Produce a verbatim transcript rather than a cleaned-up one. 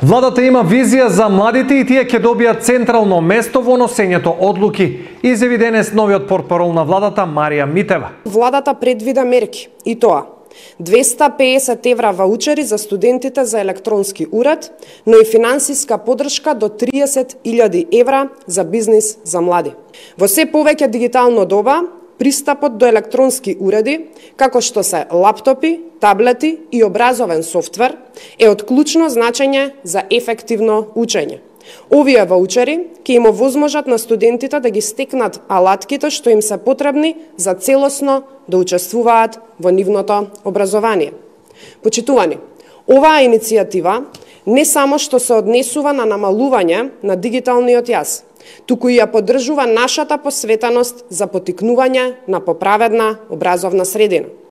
Владата има визија за младите и тие ќе добијат централно место во носењето одлуки, изјави денес новиот портпарол на владата Марија Митева. Владата предвида мерки и тоа двеста пеесет евра ваучери за студентите за електронски уред, но и финансиска подршка до триесет илјади евра за бизнис за млади. Во се повеќе дигитално доба, пристапот до електронски уреди, како што се лаптопи, таблети и образовен софтвер, е од клучно значење за ефективно учење. Овие ваучери ќе им овозможат на студентите да ги стекнат алатките што им се потребни за целосно да учествуваат во нивното образование. Почитувани, оваа иницијатива не само што се однесува на намалување на дигиталниот јаз, туку и ја поддржува нашата посветеност за поттикнување на поправедна образовна средина.